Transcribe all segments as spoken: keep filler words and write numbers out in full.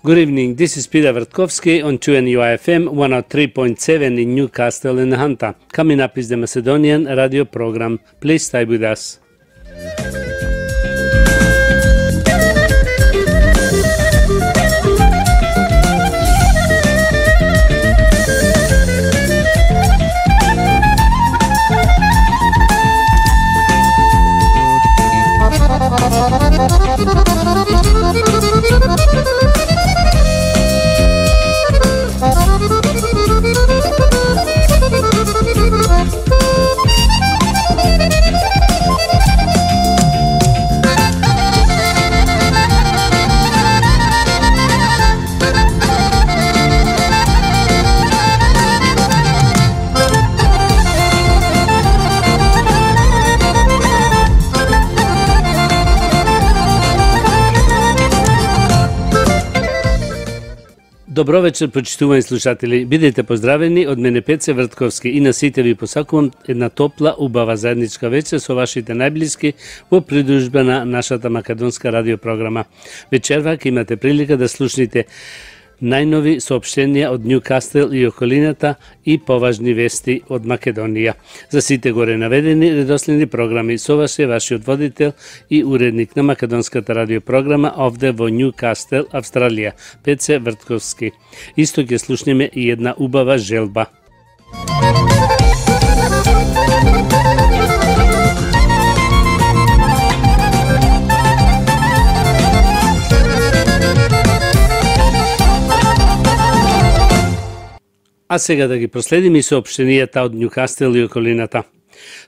Good evening, this is Peter Vertkovsky on two N U I F M one oh three point seven in Newcastle in Hunter. Coming up is the Macedonian radio program. Please stay with us. Добро вечер, почитувани слушатели. Бидете поздравени од мене Пеце Вртковски и на сите ви посакувам една топла, убава заедничка вечер со вашите најблиски во придружба на нашата македонска радиопрограма. Вечерва ќе имате прилика да слушнете најнови соопштенија од Ньюкастел и околината и поважни вести од Македонија. За сите горе наведени редоследни програми со вас е вашиот водител и уредник на македонската радиопрограма овде во Ньюкастел, Австралија, Пеце Вртковски. Исто ќе слушнеме и една убава желба. А сега да ги проследиме и соопштенијата од Ньюкастел и околината.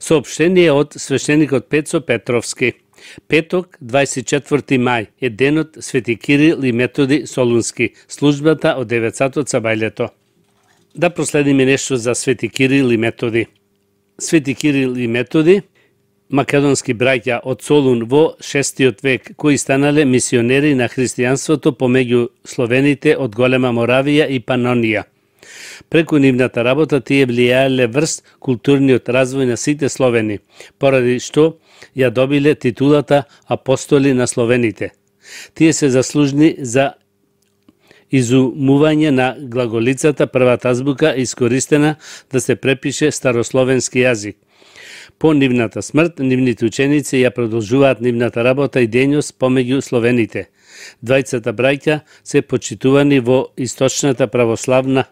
Соопштение од свештеникот Пецо Петровски. Петок, дваесет и четврти мај, е денот Свети Кирил и Методи Солунски, службата од деветсато цабајлето. Да проследиме нешто за Свети Кирил и Методи. Свети Кирил и Методи, македонски браќа од Солун во шестиот век, кои станале мисионери на христијанството помеѓу словените од Голема Моравија и Панонија. Преку нивната работа тие влијаеле врз културниот развој на сите словени, поради што ја добиле титулата апостоли на словените. Тие се заслужни за изумување на глаголицата првата азбука искористена да се препише старословенски јазик. По нивната смрт, нивните ученици ја продолжуваат нивната работа и дејност помеѓу словените. Двајцата браќа се почитувани во источната православна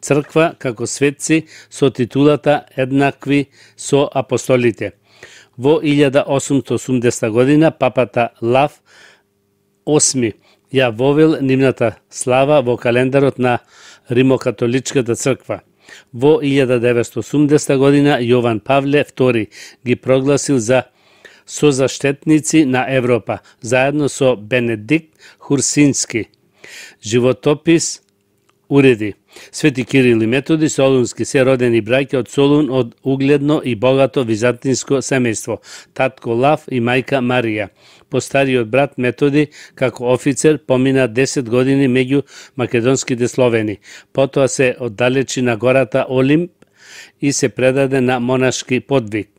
црква како светци со титулата еднакви со апостолите. Во илјада осумстотини и осумдесета година папата Лав осми ја вовел нивната слава во календарот на Римокатоличката црква. Во илјада деветстотини и осумдесета година Јован Павле втори ги прогласил за созаштетници на Европа, заедно со Бенедикт Хурсински. Животопис уреди. Свети Кирил и Методи Солунски се родени браќа од Солун од угледно и богато византинско семејство, татко Лав и мајка Марија. Постариот брат Методи, како офицер, помина десет години меѓу македонските словени. Потоа се оддалечи на гората Олимп и се предаде на монашки подвиг.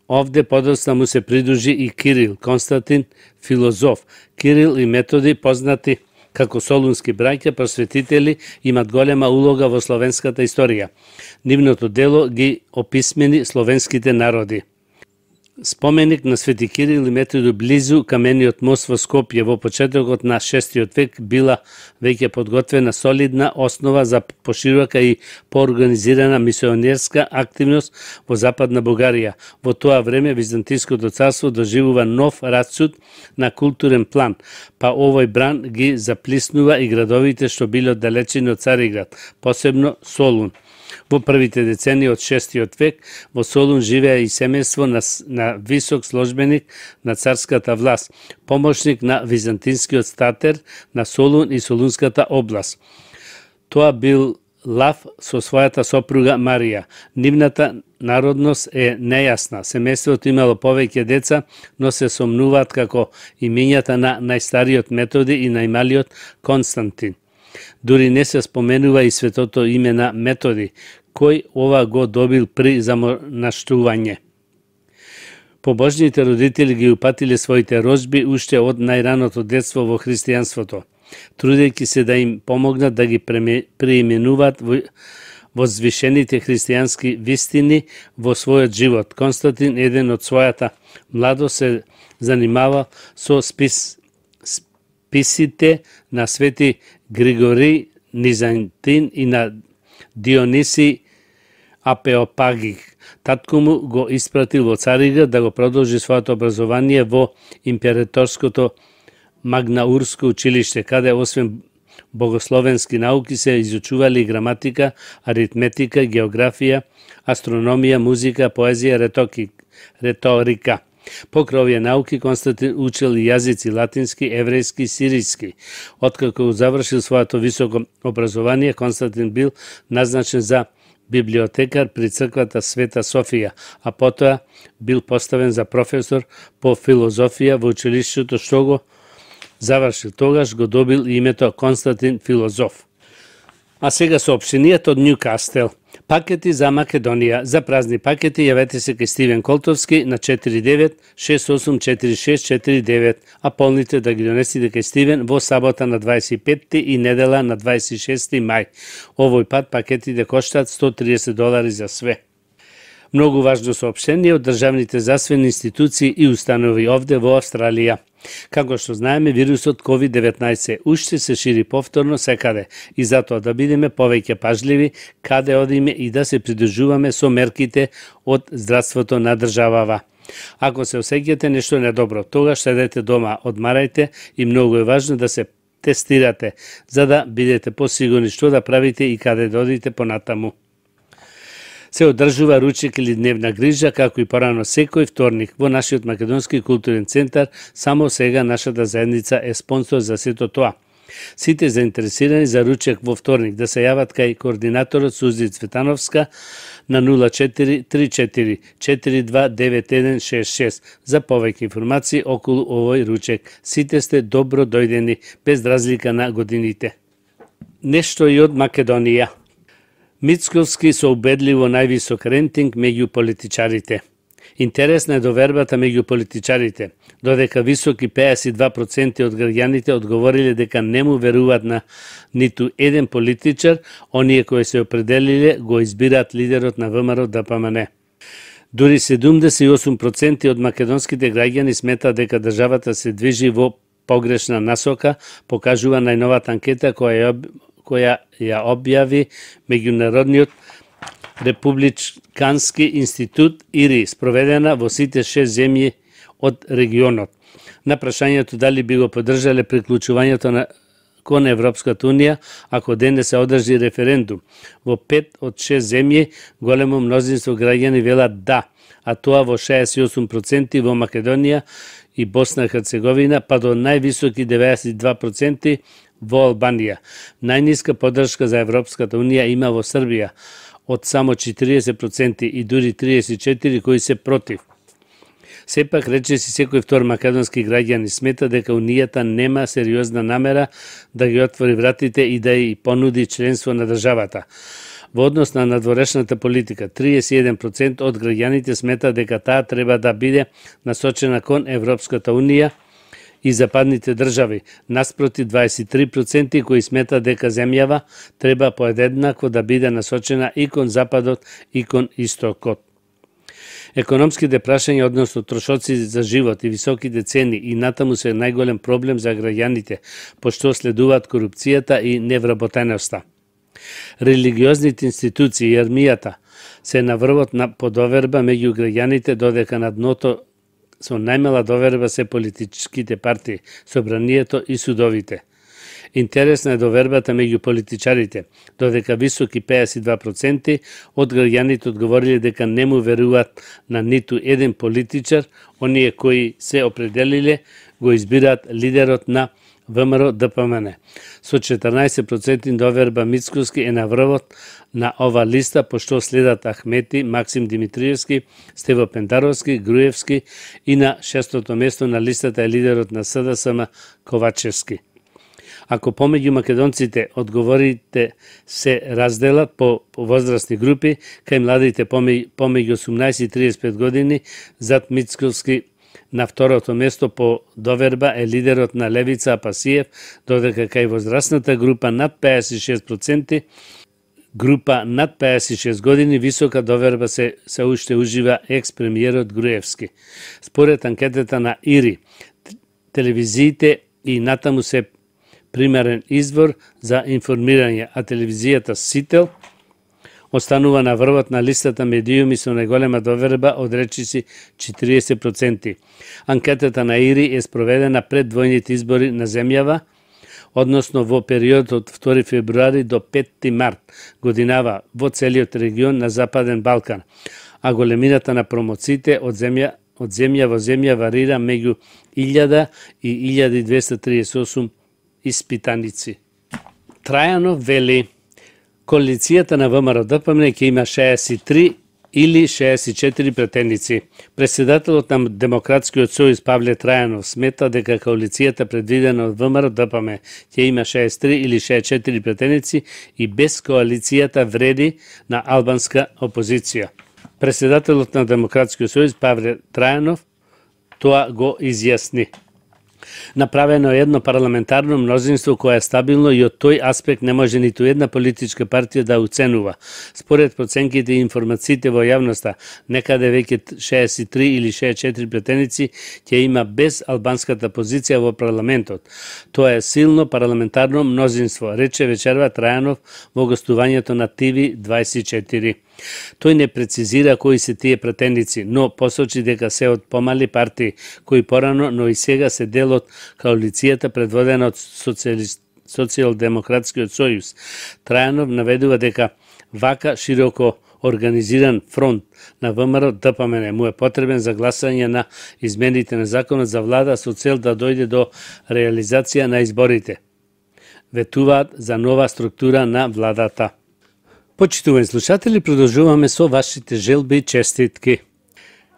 Овде подоцна му се придружи и Кирил, Константин, филозоф. Кирил и Методи, познати како солунски браќа просветители, имат голема улога во словенската историја. Нивното дело ги описмени словенските народи. Споменик на Свети Кирил и Методи близу камениот мост во Скопје во почетокот на шестиот век била веќе подготвена солидна основа за поширока и поорганизирана мисионерска активност во Западна Бугарија. Во тоа време Византиското царство доживува нов расцут на културен план, па овој бран ги заплиснува и градовите што биле оддалечени од Цариград, посебно Солун. Во првите децении од шестиот век во Солун живеа и семејство на, на висок сложбеник на царската власт, помошник на византинскиот статер на Солун и Солунската област. Тоа бил Лав со својата сопруга Марија. Нивната народност е нејасна. Семејството имало повеќе деца, но се сомнуваат како имињата на најстариот Методи и најмалиот Константин. Дури не се споменува и светото име на Методи, кој ова го добил при замонаштување. Побожните родители ги упатиле своите рожби уште од најраното детство во христијанството. трудејќи се да им помогнат да ги преименуваат во возвишените христијански вистини во својот живот. Константин, еден од својата младост, се занимава со спис, списите на свети Григори Низантин и на Диониси Апеопагик. Татко му го испратил во Царига да го продолжи своето образование во императорското Магнаурско училиште, каде освен богословенски науки се изучували граматика, аритметика, географија, астрономија, музика, поезија, ретоки, реторика. Покрај овие науки Константин учил и јазици латински, еврејски и сиријски. Откако завршил своето високо образование, Константин бил назначен за библиотекар при црквата Света Софија, а потоа бил поставен за професор по филозофија во училиштето, што го завршил. Тогаш го добил името Константин Филозоф. А сега соопштенијата од Нјукастел. Пакети за Македонија. За празни пакети јавете се кај Стивен Колтовски на четири девет шест осум четири шест четири девет, а полните да ги донесите кај Стивен во сабота на дваесет и петти и недела на дваесет и шести мај. Овој пат пакетите коштаат сто триесет долари за све. Многу важно соопштение од државните засвени институции и установи овде во Австралија. Како што знаеме, вирусот ковид деветнаесет уште се шири повторно секаде и затоа да бидеме повеќе пажливи каде одиме и да се придржуваме со мерките од здравството на државава. Ако се осеќате нешто недобро, тогаш седете дома, одмарајте и многу е важно да се тестирате, за да бидете посигурни што да правите и каде да одите понатаму. Се одржува ручек или дневна грижа, како и порано секој вторник во нашиот Македонски културен центар. Само сега нашата заедница е спонсор за сето тоа. Сите заинтересирани за ручек во вторник да се јават кај координаторот Сузи Цветановска на нула четири три четири четири два девет еден шест шест за повеќе информации околу овој ручек. Сите сте добро дојдени, без разлика на годините. Нешто и од Македонија. Мицковски со убедливо највисок рейтинг меѓу политичарите. Интересна е довербата меѓу политичарите, додека високи пеесет и два проценти од граѓаните одговориле дека не му веруваат на ниту еден политичар, оние кои се определиле го избираат лидерот на ВМРО Д П М Н. Дури седумдесет и осум проценти од македонските граѓани сметаат дека државата се движи во погрешна насока, покажува најновата анкета која ја која ја објави Меѓународниот републикански институт И Р И, спроведена во сите шест земји од регионот. На прашањето дали би го поддржале приклучувањето на кон Европската унија ако денес се одржи референдум, во пет од шест земји големо мнозинство граѓани велат да, а тоа во шеесет и осум проценти во Македонија и Босна и Херцеговина, па до највисоки деветдесет и два проценти во Албанија. Најниска поддршка за Европската унија има во Србија, од само четириесет проценти и дури триесет и четири кои се против. Сепак, речиси секој втор македонски граѓани смета дека Унијата нема сериозна намера да ги отвори вратите и да ја понуди членство на државата. Во однос на надворешната политика, триесет и еден проценти од граѓаните смета дека таа треба да биде насочена кон Европската унија и западните држави, наспроти дваесет и три проценти кои смета дека земјава треба поеднакво да биде насочена и кон западот и кон истокот. Економските прашања, односно трошоци за живот и високите цени и натаму се најголем проблем за граѓаните, пошто следуваат корупцијата и невработеноста. Религиозните институции и армијата се на врвот на подоверба меѓу граѓаните, додека на дното со најмала доверба се политичките партии, собранието и судовите. Интересна е довербата меѓу политичарите, додека високи пеесет и два проценти од граѓаните одговориле дека не му веруваат на ниту еден политичар, оние кои се определиле го избираат лидерот на ВМРО Д П М Н. Со четрнаесет проценти доверба Мицковски е на врвот на ова листа, пошто следат Ахмети, Максим Димитриевски, Стево Пендаровски, Груевски и на шестото место на листата е лидерот на С Д С М Ковачевски. Ако помеѓу македонците одговорите се разделат по возрастни групи, кај младите помеѓу осумнаесет и триесет и пет години, зад Мицковски На второто место по доверба е лидерот на левица Апасиев, додека кај возрастната група над педесет и шест проценти, група над педесет и шест години, висока доверба се, се уште ужива екс-премиерот Груевски. Според анкетата на ИРИ, телевизиите и натаму се примерен извор за информирање, а телевизијата Сител останува на врвот на листата медиуми со најголема доверба од речиси четириесет проценти. Анкетата на ИРИ е спроведена пред двојните избори на земјава, односно во период од втори февруари до петти март годинава во целиот регион на Западен Балкан, а големината на промоциите од земја од земја во земја варира меѓу илјада и илјада и двесте триесет и осум испитаници. Трајанов вели, коалицијата на ВМРО-ДПМН ќе има шеесет и три или шеесет и четири претендици. Председателот на Демократскиот сојуз Павле Трајанов смета дека коалицијата предвидена од ВМРО-ДПМН ќе има шеесет и три или шеесет и четири претендици и без коалицијата вреди на албанска опозиција. Председателот на Демократскиот сојуз Павле Трајанов тоа го изјасни. Направено е едно парламентарно мнозинство кое е стабилно и од тој аспект не може ниту една политичка партија да уценува. Според проценките и информациите во јавноста, некаде веќе шеесет и три или шеесет и четири претендици ќе има без албанската позиција во парламентот. Тоа е силно парламентарно мнозинство, рече вечерва Трајанов во гостувањето на Т В дваесет и четири. Тој не прецизира кои се тие претендици, но посочи дека се од помали партии, кои порано, но и сега се дел од коалицијата предводена од Социјалдемократскиот сојуз. Трајанов наведува дека вака широко организиран фронт на ВМРО-ДПМН му е потребен за гласање на измените на законот за влада со цел да дојде до реализација на изборите. Ветуваат за нова структура на владата. Почитувани слушатели, продолжуваме со вашите желби и честитки.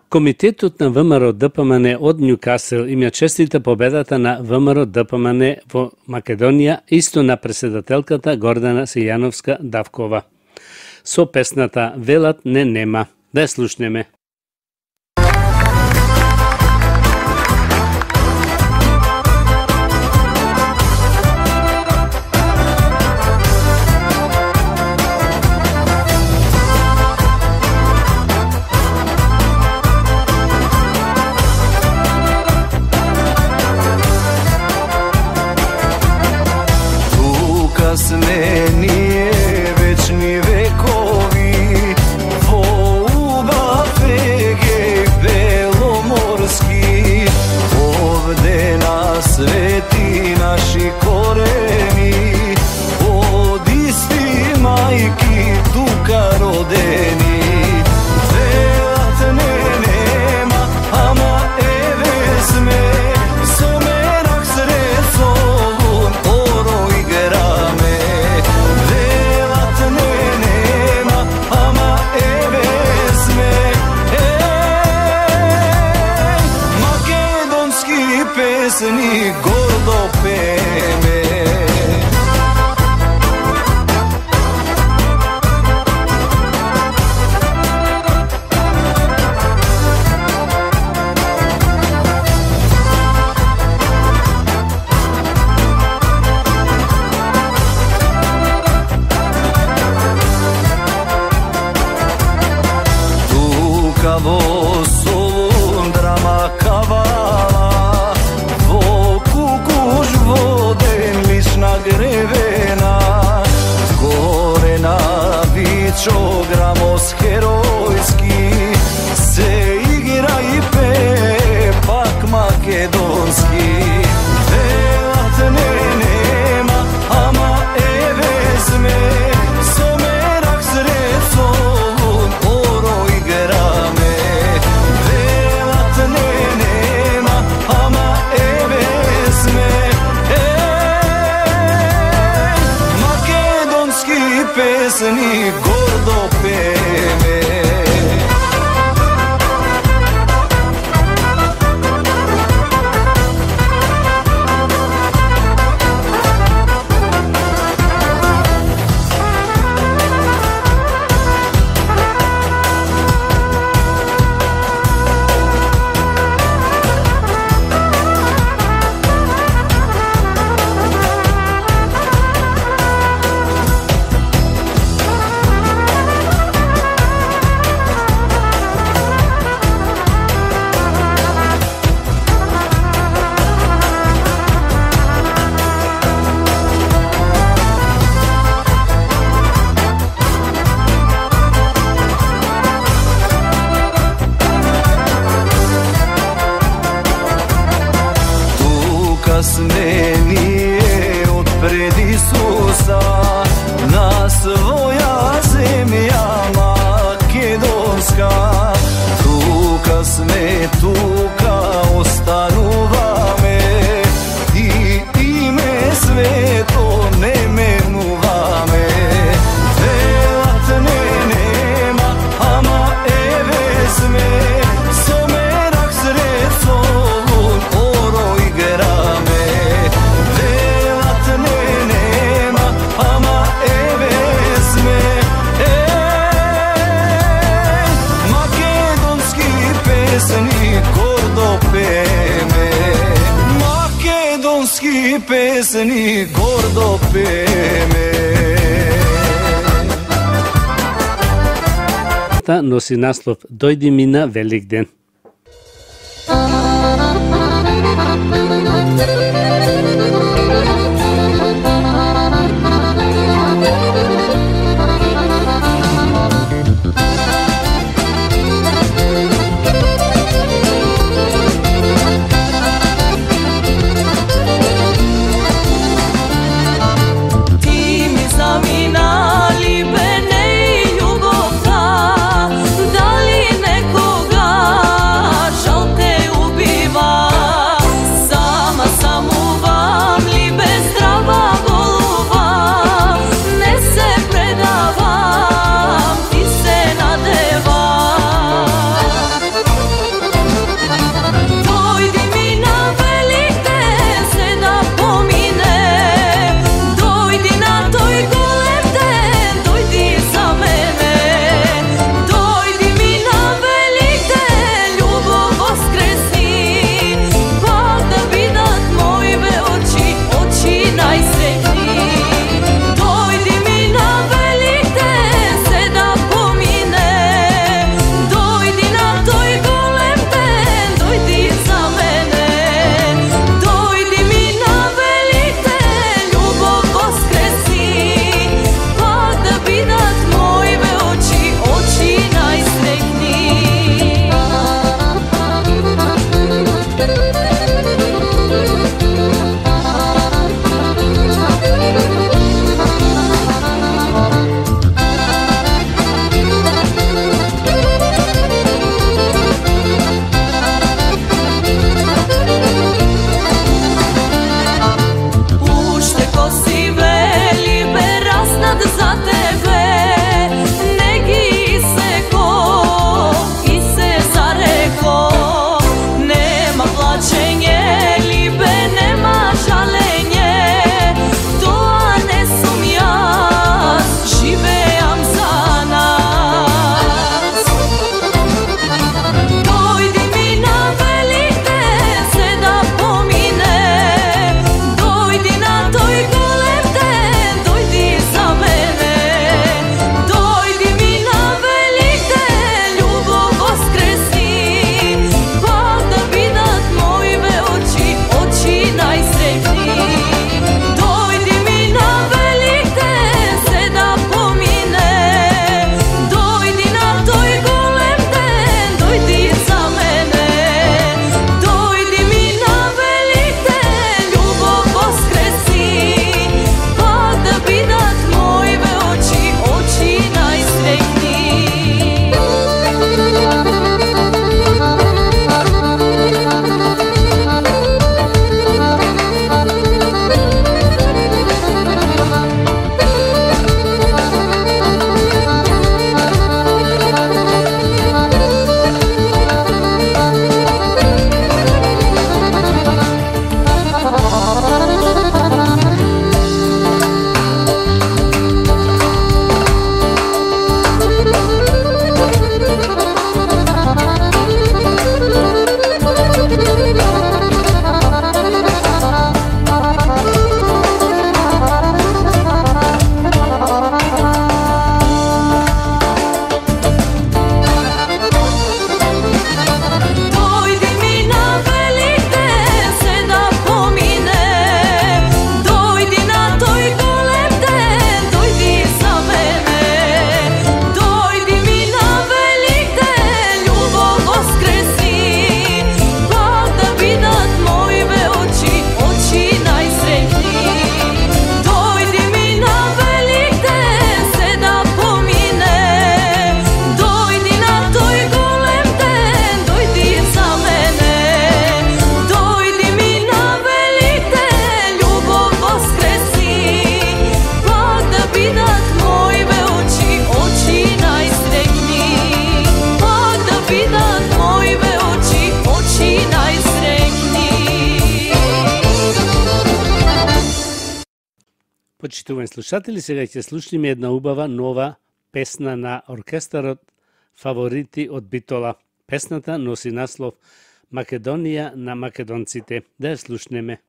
Комитетот на ВМРО-ДПМН од Њукасел им ја честита победата на ВМРО-ДПМН во Македонија, исто на претседателката Гордана Силјановска-Давкова. Со песната "Велат не нема". Да ја слушнеме. Сме ние вечни векови во убав егеј беломорски, овде на свети наши корени, од исти мајки тука родени. Велат не нема, ама еве сме, со мерак сред солун оро играме. Велат не нема, ама еве сме, еј, македонски песни гордо пееме. Во Солун драма кавала, во Кукуш воден лична гревена, горе на Вичо грамос херојски, се игра и пее пак македонски. Велат не нема, ама еве сме, со мерак сред солун оро играме. Велат не нема, ама еве сме, еј, македонски песни гордо пееме. ние од пред Исуса на своја земја македонска. Тука сме, тука остануваме и име свето не менуваме. Велат не нема, ама еве сме, со мерак сред солун оро играме. Велат не нема, ама еве сме, еј, македонски песни гордо пееме. Македонски песни гордо пееме. Носи наслов "Дојди ми на Великден". Some Почитувани слушатели, сега ќе слушнеме една убава нова песна на оркестарот Фаворити од Битола. Песната носи наслов Македонија на македонците. Да ја слушнеме.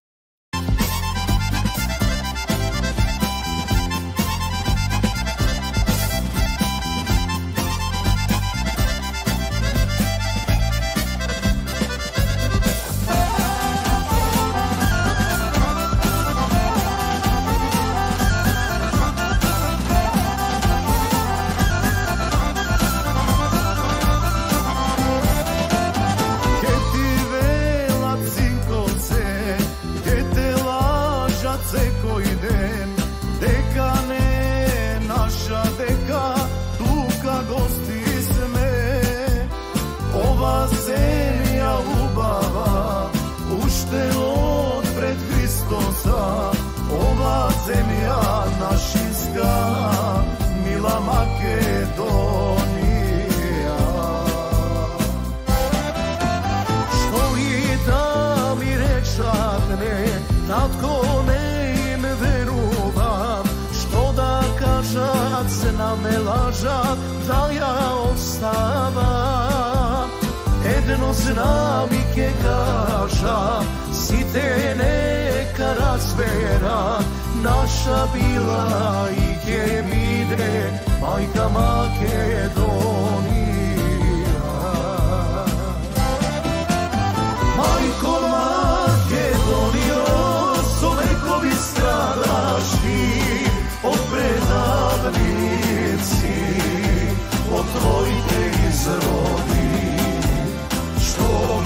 Ova zemlja našinska, mila Makedonija. Što i da mi rečatne, tatko ne im veruvam, što da kažat se na me lažat, da ja ostavam. Едно знам и ке кажа, сите нека разбера, наша била и ке биде мајка Македонија. Мајко Македонијо, со векови страдашки, од предавници, од твоите изроди.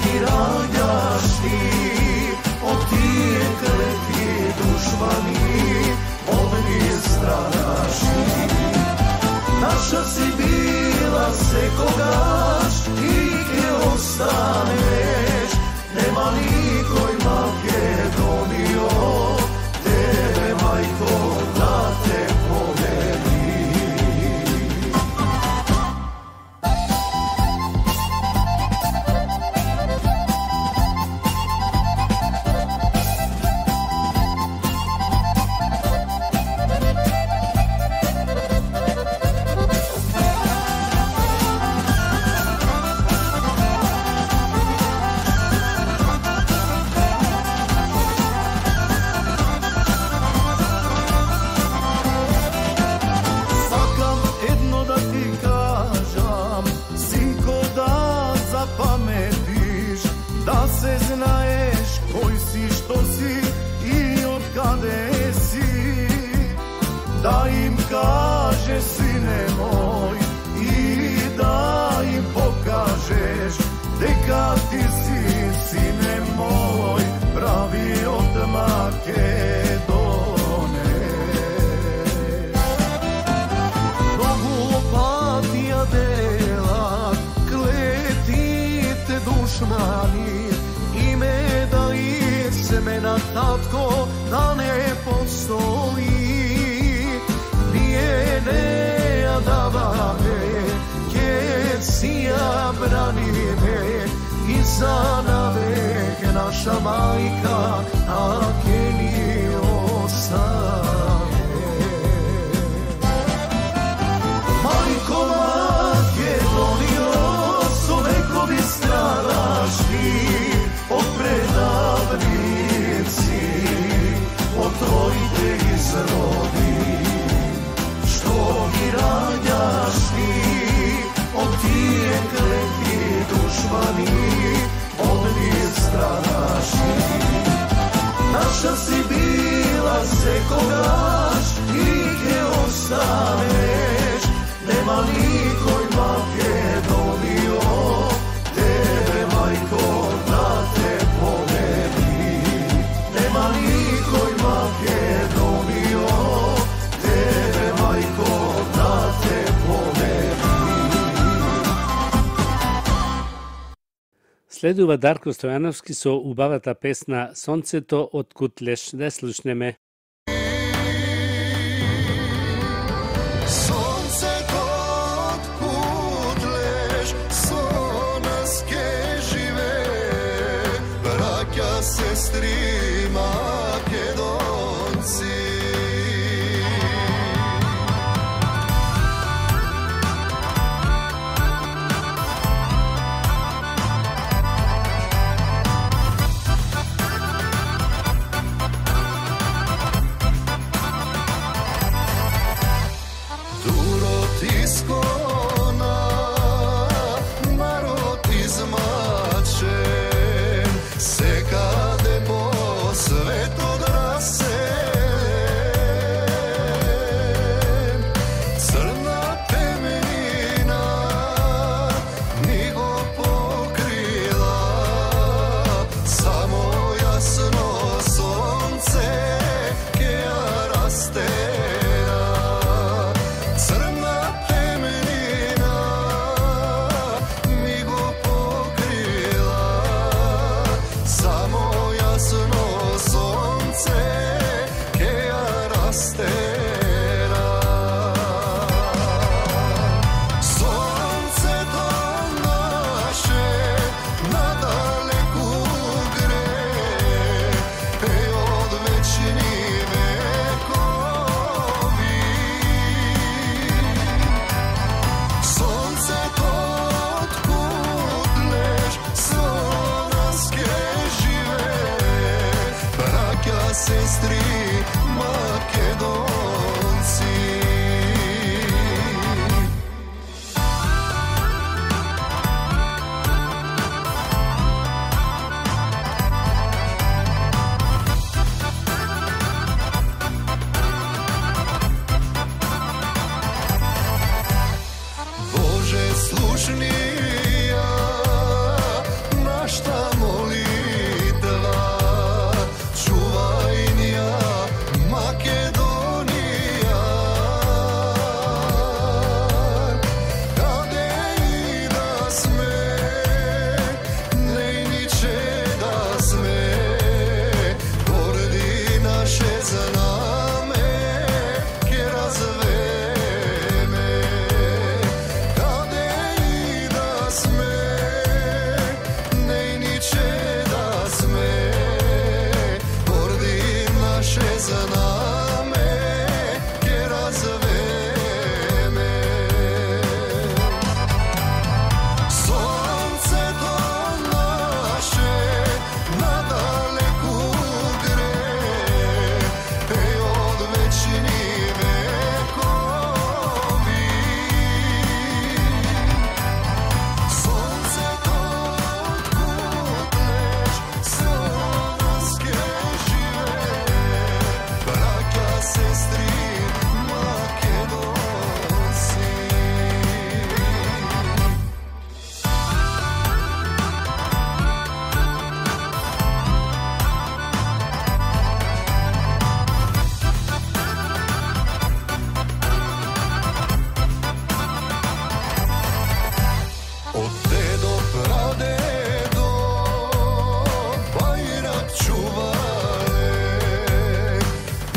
Ги раѓаш ти од тие клети душмани, од ние страдаш ти. Наша си била секогаш и ке останеш, нема никој Македонијо, тебе мајко да те победи. Да се знаеш кој си, што си и од каде си. Да им кажеш, сине мој, и да им покажеш дека ти си, сине мој, прави од Македонија. Многу патија делат клетите душмани, име да и семена татко да не постои. Ние не ја даваме, ке си ја браниме и за навек наша мајка, а ке ни остане. Мајко Македонијо, со векови страдаш ти, од предавници, од твоите изроди. Што ги раѓаш ти, од тие клети душмани, од ние страдаш ти. Наша си била секогаш и ке останеш, нема никој Македонијо, тебе мајко да те победи. Нема никој Македонијо, тебе мајко да те победи. Следува Дарко Стојановски со убавата песна Сонцето од Кутлеш. Да слушнеме. Sestri Makedonci, sestri Makedonci. Bože slušnija našta molitva, čuvaj nja Makedonija. Kade i da sme, nejniče da sme, pordi naše zname, ke razveme. Kade i da sme, nejniče da sme, pordi naše zname, ke razveme. Sonce to naše nadaleku gre, ej od večni vekovi. Sonce to odkutleš, slovanske žive, braća, sestri Makedonci. Od dedo pradedo bajrak čuvale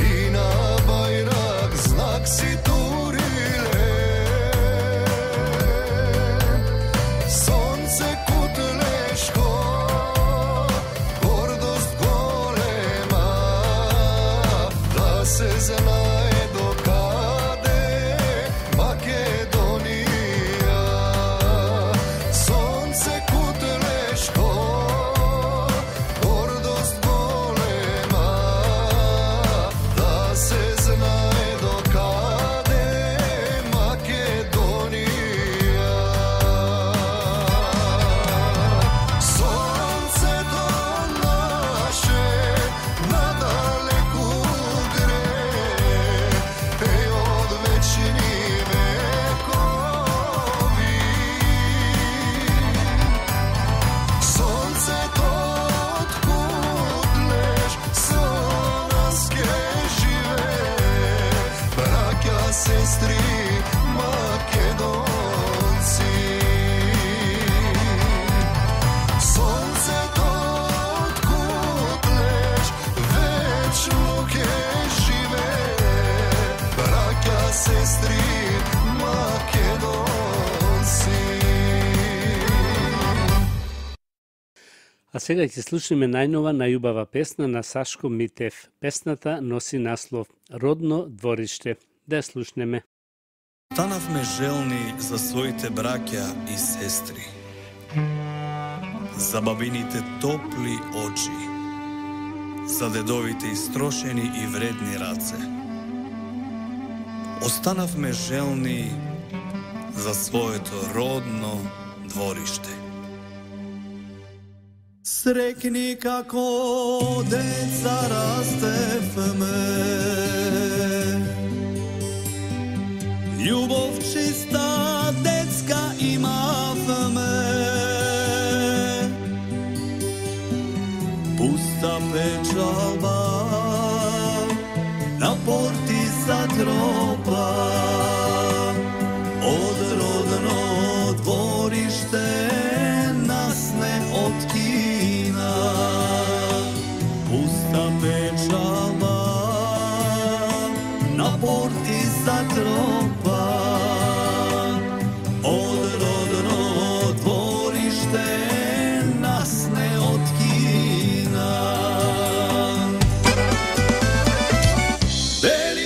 i na bajrak znak si turile. Sonce kutleško, gordost golema, da se znaje do kade Makedonija. Sonce kutleško, gordost golema, da se znaje do kade Makedonija. Sonce to naše nadaleku gre, ej od večni vekovi. Sonce to odkutleš, slovanske žive, braća, sestri Makedonci. Sonce to odkutleš, večno ke žive, braća, sestri Makedonci. А сега ќе слушнеме најнова најубава песна на Сашко Митев. Песната носи наслов Родно двориште. Да ја слушнеме. Станавме желни за своите браќа и сестри, за бабините топли очи, за дедовите истрошени и вредни раце. Останавме желни за своето родно двориште. Срекни како деца растевме, љубов чиста детска имавме, пуста печалба на порти затропа, од родно двориште нас не откина. Пуста печалба на порти затропа, од родно двориште нас не откина. Дели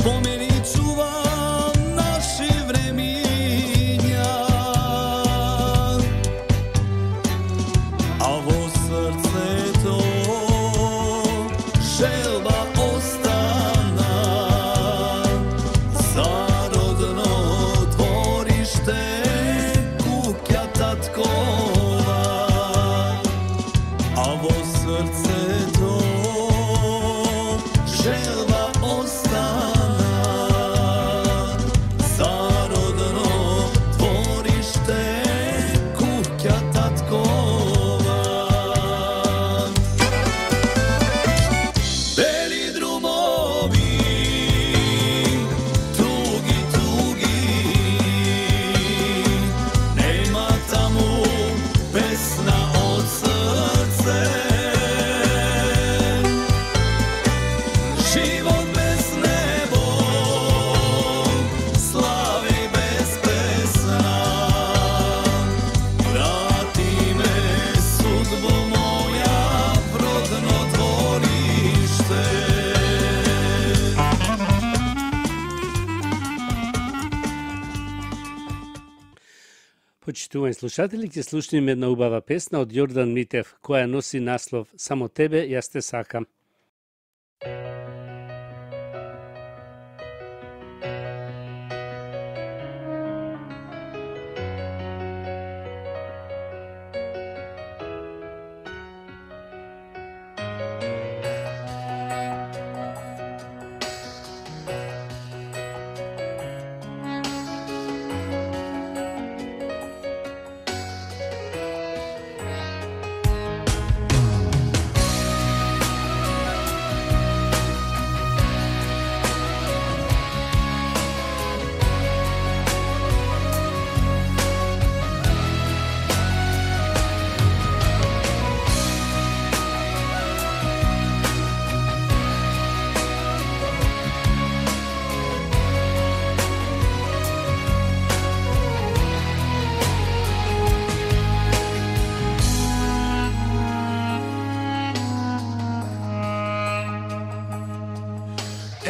Спомени чувам наши времиња, а во срцето желба остана за родно двориште, куќа таткова, а во срцето желба остана за родно двориште, куќа таткова. Бели друмови, туги, туги, нема таму песна од срце. Живот без небо, слави без песна. Врати ме, судбо моја, в родно двориште. Почитувани слушатели, ќе слушнеме една убава песна од Јордан Митев, која носи наслов "Само тебе јас те сакам".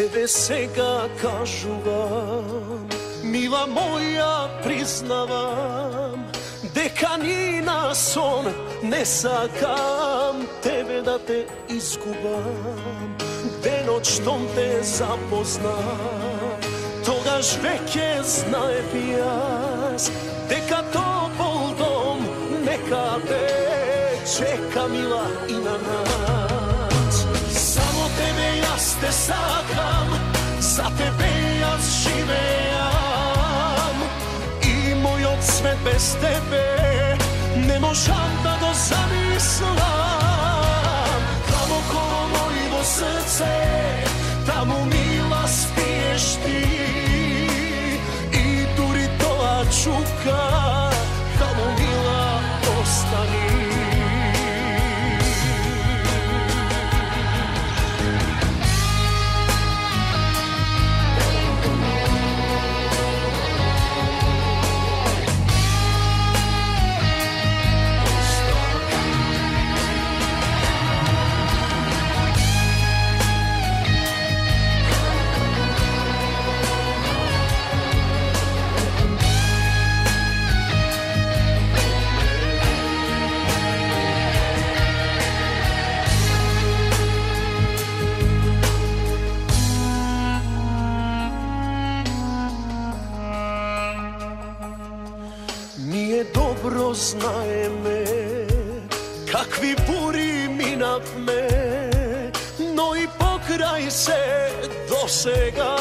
Еве сега кажувам, мила моја, признавам, дека ни на сон не сакам тебе да те изгубам. Денот штом те запознам, тогаш веќе знаев јас дека топол дом некаде чека, мила, и на нас. Само тебе јас те сакам, за тебе јас живеам, и мојот свет без тебе не можам да го замислам. Длабоко мојо срце, таму, мила, спиеш ти, и дури тоа чука, таму, мила, остани. Ние добро знаеме какви бури минавме, но и покрај се досега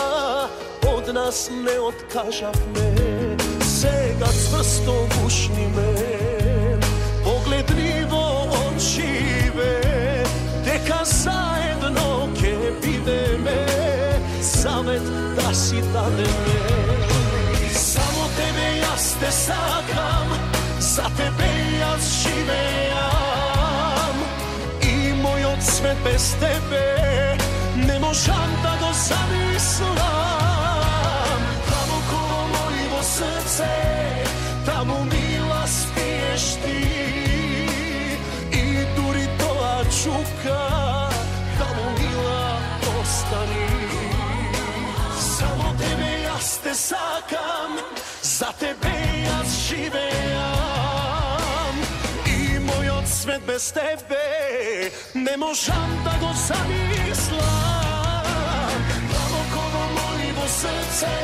од нас не откажавме. Сега цврсто гушниме, поглед ни во очиве, дека заедно ке бидеме, завет да си дадеме. Само тебе јас те сакам, за тебе јас живеам, и мојот свет без тебе не можам да го замислам. Длабоко мојо срце, таму, мила, спиеш ти, и дури тоа чука, таму, мила, остани. Јас те сакам, за тебе јас живеам. И мојот свет без тебе не можам да го замислам. Таму кога мојво срце,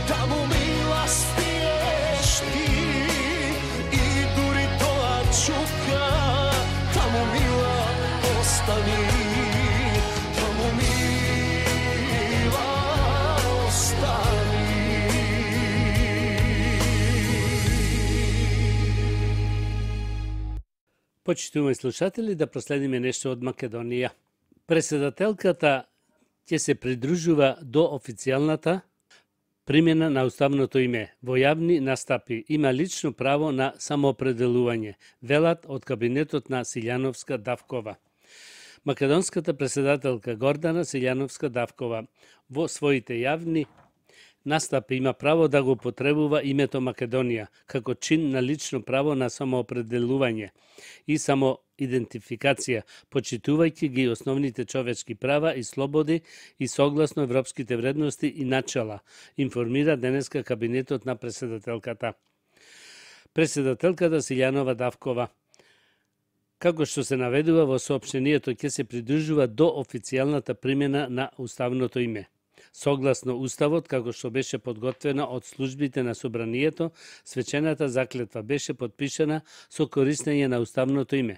таму милост тиеш ти. И дури тоа чука, таму мила остани. Таму мила остани. Почитуваме слушатели, да проследиме нешто од Македонија. Председателката ќе се придружува до официјалната примена на уставното име. Во јавни настапи има лично право на самоопределување, велат од кабинетот на Силјановска-Давкова. Македонската председателка Гордана Силјановска-Давкова во своите јавни настапи има право да го потребува името Македонија како чин на лично право на самоопределување и самоидентификација, почитувајќи ги основните човечки права и слободи и согласно европските вредности и начала, информира денеска кабинетот на председателката. Председателката Силјанова Давкова, како што се наведува во соопштението, ќе се придружува до официјалната примена на уставното име. Согласно Уставот, како што беше подготвена од службите на Собранието, свечената заклетва беше подпишана со користење на уставното име.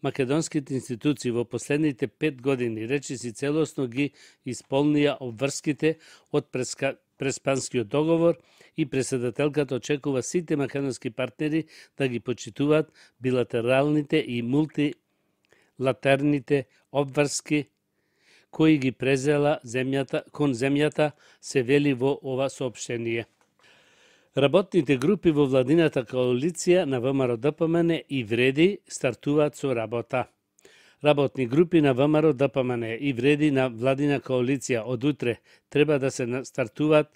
Македонските институции во последните пет години речиси целосно ги исполнија обврските од преска... Преспанскиот договор и председателката очекува сите македонски партнери да ги почитуваат билатералните и мултилатерните обврски кои ги презела земјата, кон земјата, се вели во ова соопштение. Работните групи во владината коалиција на ВМРО-ДПМН и Вреди стартуваат со работа. Работни групи на ВМРО-ДПМН и Вреди на владина коалиција од утре треба да се стартуваат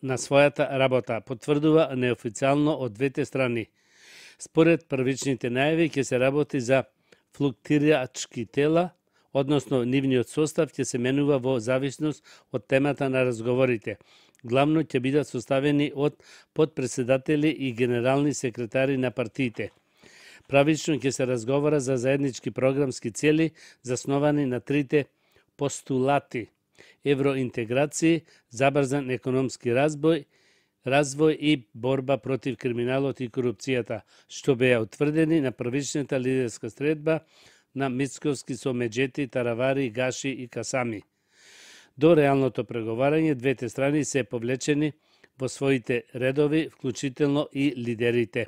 на својата работа, потврдува неофицијално од двете страни. Според првичните најави ќе се работи за флуктирачки тела, односно нивниот состав ќе се менува во зависност од темата на разговорите. Главно ќе бидат составени од подпредседатели и генерални секретари на партиите. Правично ќе се разговара за заеднички програмски цели засновани на трите постулати: евроинтеграција, забрзан економски разбој, развој и борба против криминалот и корупцијата, што беа утврдени на првичната лидерска средба на Мицковски со Меджети, Таравари, Гаши и Касами. До реалното преговарање, двете страни се повлечени во своите редови, вклучително и лидерите.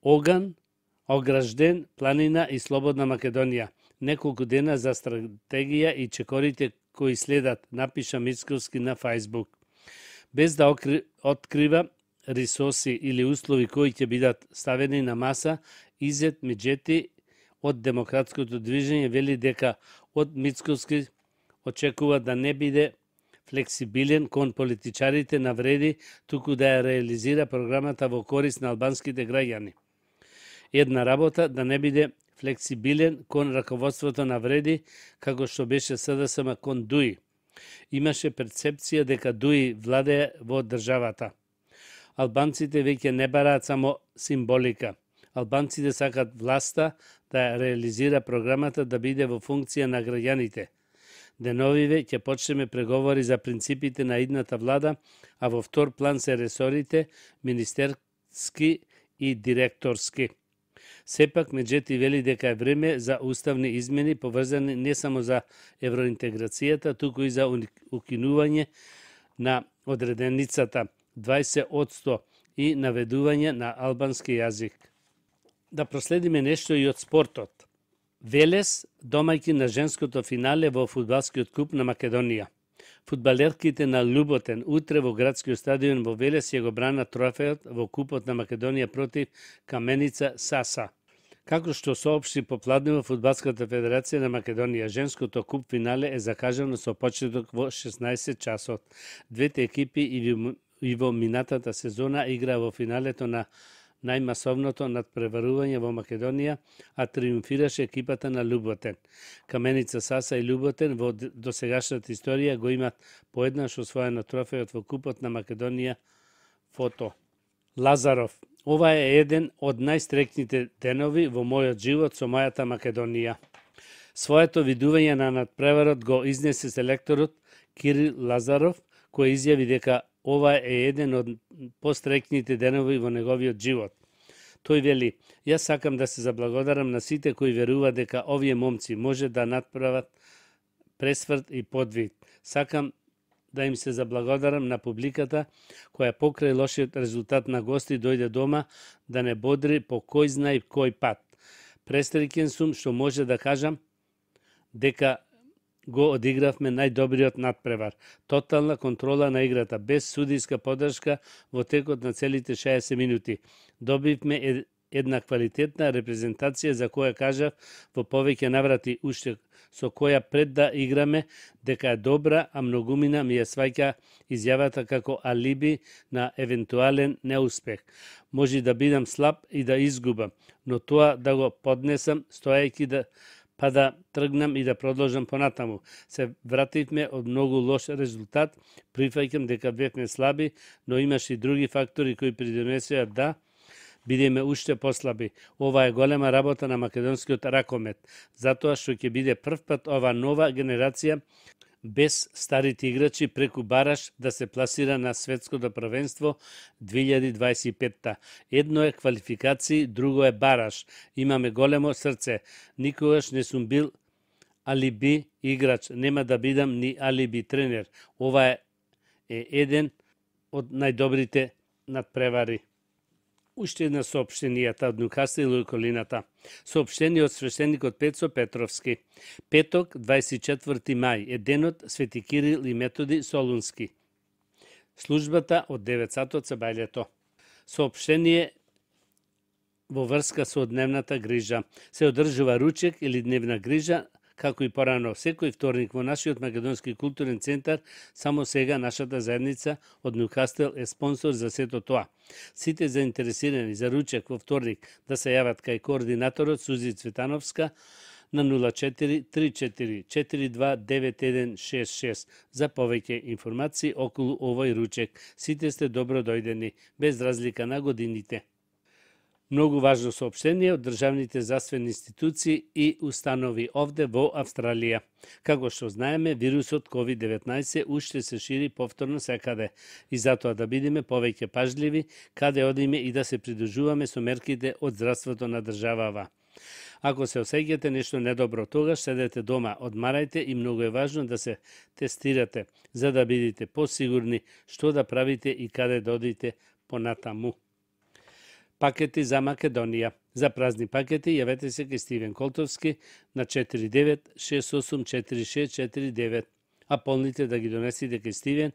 Оган, Огражден, Планина и Слободна Македонија. Неколку дена за стратегија и чекорите кои следат, напиша Мицковски на Фајсбук. Без да открива ресурси или услови кои ќе бидат ставени на маса, Изет Меджети од Демократското движење вели дека од Мицковски очекува да не биде флексибилен кон политичарите на Вреди, туку да ја реализира програмата во корист на албанските граѓани. Една работа да не биде флексибилен кон раководството на Вреди, како што беше СДСМ кон ДУИ. Имаше перцепција дека ДУИ владее во државата. Албанците веќе не бараат само символика. Албанците сакат власта да реализира програмата да биде во функција на граѓаните. Деновиве ќе почнеме преговори за принципите на идната влада, а во втор план се ресорите министерски и директорски. Сепак Меджети вели дека е време за уставни измени поврзани не само за евроинтеграцијата, туку и за укинување на одреденицата дваесет одсто и наведување на албански јазик. Да проследиме нешто и од спортот. Велес домајки на женското финале во фудбалскиот куп на Македонија. Фудбалерките на Луботен утре во градскиот стадион во Велес ќе го бранат трофеот во купот на Македонија против Каменица Саса. Како што соопшти попладнево Фудбалската федерација на Македонија, женското куп финале е закажано со почеток во шеснаесет часот. Двете екипи и во минатата сезона играа во финалето на најмасовното надпреварување во Македонија, а триумфираше екипата на Луботен. Каменица Саса и Луботен во досегашната историја го имат поеднаш освоено трофејот во Купот на Македонија. Фото. Лазаров. Ова е еден од најстрекните денови во мојот живот со мојата Македонија. Своето видување на надпреварот го изнесе селекторот Кирил Лазаров, кој изјави дека ова е еден од пострекните денови во неговиот живот. Тој вели: "Јас сакам да се заблагодарам на сите кои веруваат дека овие момци може да надправат пресврт и подвиг. Сакам да им се заблагодарам на публиката која покрај лошиот резултат на гости дојде дома да не бодри по кој знае кој пат. Пресреќен сум што може да кажам дека го одигравме најдобриот надпревар. Тотална контрола на играта, без судиска подршка во текот на целите шеесет минути. Добивме една квалитетна репрезентација за која кажав во повеќе наврати уште со која пред да играме дека е добра, а многумина ми ја сваќа изјавата како алиби на евентуален неуспех. Може да бидам слаб и да изгубам, но тоа да го поднесам стоејќи да па да тргнам и да продолжам понатаму. Се вративме од многу лош резултат, прифаќам дека бевме слаби, но имаше и други фактори кои придонесоа да бидеме уште послаби. Ова е голема работа на македонскиот ракомет, затоа што ќе биде прв пат ова нова генерација без старите играчи преку бараш да се пласира на светското првенство две илјади дваесет и петта. Едно е квалификации, друго е бараш. Имаме големо срце. Никогаш не сум бил алиби играч, нема да бидам ни алиби тренер. Ова е, е еден од најдобрите надпревари. Уште една соопштенијата од Ньукасл и околината. Соопштение од свештеникот Пецо Петровски. Петок, дваесет и четврти мај, е денот Свети Кирил и Методи Солунски. Службата од девет сатот се бајлето. Соопштение во врска со дневната грижа. Се одржува ручек или дневна грижа, како и порано секој вторник во нашиот македонски културен центар. Само сега нашата заедница од Ньукасл е спонсор за сето тоа. Сите заинтересирани за ручек во вторник да се јават кај координаторот Сузи Цветановска на нула четири три четири четири два девет еден шест шест за повеќе информации околу овој ручек. Сите сте добро дојдени, без разлика на годините. Многу важно соопштение од државните здравствени институции и установи овде во Австралија. Како што знаеме, вирусот ковид деветнаесет уште се шири повторно секаде и затоа да бидеме повеќе пажливи каде одиме и да се придружуваме со мерките од здравството на државава. Ако се осеќате нешто недобро, тогаш седете дома, одмарајте и многу е важно да се тестирате, за да бидете посигурни што да правите и каде да одите понатаму. Пакети за Македонија. За празни пакети јавете се кај Стивен Колтовски на четири девет шест осум четири шест четири девет, а полните да ги донесете кај Стивен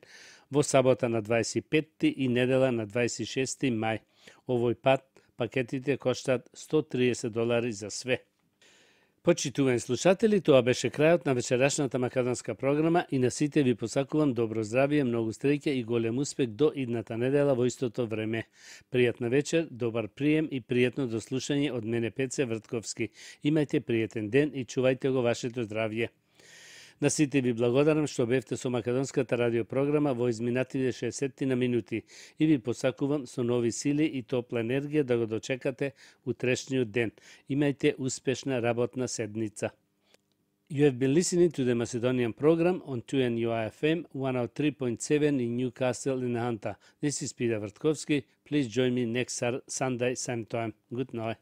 во сабота на дваесет и петти и недела на дваесет и шести мај. Овој пат пакетите коштат сто триесет долари за све. Почитувани слушатели, тоа беше крајот на вечерашната македонска програма и на сите ви посакувам добро здравје, многу среќа и голем успех до идната недела во истото време. Пријатна вечер, добар прием и пријатно дослушање од мене Пеце Вртковски. Имајте пријатен ден и чувајте го вашето здравје. На сите ви благодарам што бевте со македонската радиопрограма во изминатите шеесет на минути и ви посакувам со нови сили и топла енергија да го дочекате утрешниот ден. Имајте успешна работна седница. You have been listening to the Macedonian program on two N U I F M one oh three point seven in Newcastle in Hanta. This is Peter Vrtkovski. Please join me next Sunday, same time. Good night.